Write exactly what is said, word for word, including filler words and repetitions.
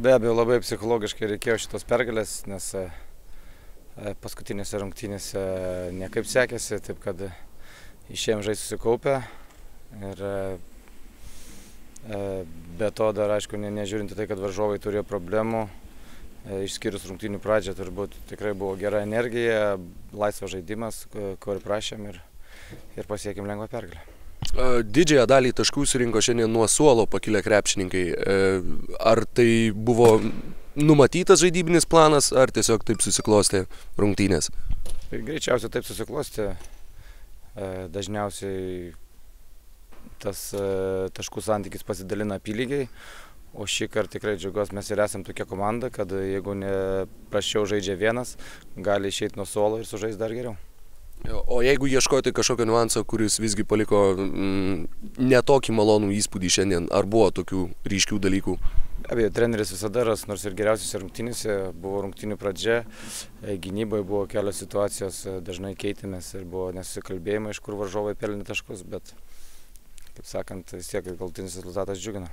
Be abejo, labai psichologiškai reikėjo šitos pergalės, nes paskutinėse rungtynėse nekaip sekėsi, taip kad išėjom žaisti susikaupę. Ir be to dar, aišku, ne, nežiūrint į tai, kad varžovai turėjo problemų, išskyrus rungtynių pradžią, turbūt tikrai buvo gera energija, laisvas žaidimas, ko ir prašėm, ir, ir pasiekėm lengvą pergalę. Didžiąją dalį taškų surinko šiandien nuo suolo pakilę krepšininkai. Ar tai buvo numatytas žaidybinis planas, ar tiesiog taip susiklostė rungtynės? Greičiausiai taip susiklostė. Dažniausiai tas taškų santykis pasidalina apylygiai, o šį kartą tikrai džiaugiuosi, mes ir esam tokia komanda, kad jeigu ne prasčiau žaidžia vienas, gali išeiti nuo suolo ir sužaisti dar geriau. O jeigu ieškoti kažkokio niuanso, kuris visgi paliko mm, netokį malonų įspūdį šiandien, ar buvo tokių ryškių dalykų? Abejo, treneris visada ras, nors ir geriausiose rungtynėse buvo rungtynių pradžia, gynyboje buvo kelios situacijos, dažnai keitėmės ir buvo nesusikalbėjimai, iš kur varžovai pelnė taškus, bet, kaip sakant, vis tiek galutinis rezultatas džiugina.